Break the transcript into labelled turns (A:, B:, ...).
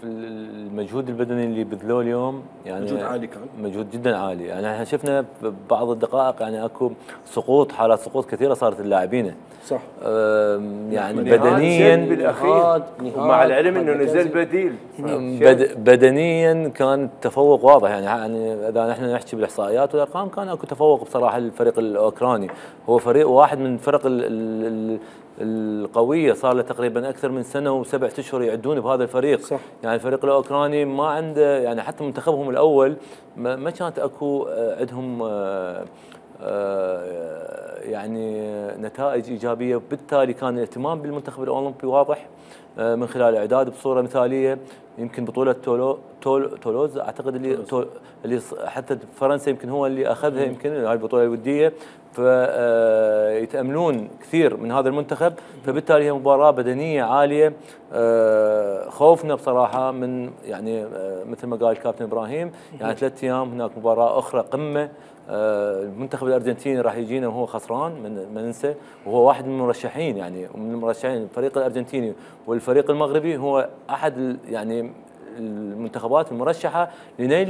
A: المجهود البدني اللي بذلوه اليوم يعني
B: مجهود عالي كان،
A: مجهود جدا عالي. يعني احنا شفنا ببعض الدقائق يعني اكو سقوط، حالات سقوط كثيره صارت اللاعبين.
B: صح.
A: يعني بدنيا
C: بالاخير مع العلم انه نزل بديل.
A: بدنيا كان التفوق واضح. يعني اذا نحن نحكي بالاحصائيات والارقام كان اكو تفوق بصراحه الفريق الاوكراني. هو فريق واحد من الفرق القويه، صار له تقريبا اكثر من سنه و7 اشهر يعدون بهذا الفريق.
B: صح.
A: يعني الفريق الاوكراني ما عنده، يعني حتى منتخبهم الاول ما كانت اكو عندهم يعني نتائج ايجابيه، وبالتالي كان الاهتمام بالمنتخب الاولمبي واضح من خلال الاعداد بصوره مثاليه. يمكن بطوله تولوز اعتقد اللي حتى فرنسا يمكن هو اللي اخذها، يمكن هاي البطوله الوديه، فيتاملون كثير من هذا المنتخب. فبالتالي هي مباراه بدنيه عاليه. خوفنا بصراحه من يعني مثل ما قال الكابتن ابراهيم، يعني 3 ايام هناك مباراه اخرى قمه. المنتخب الارجنتيني راح يجينا وهو خسران، ما ننسى، وهو واحد من المرشحين. يعني من المرشحين الفريق الارجنتيني والفريق المغربي هو احد يعني المنتخبات المرشحه لنيل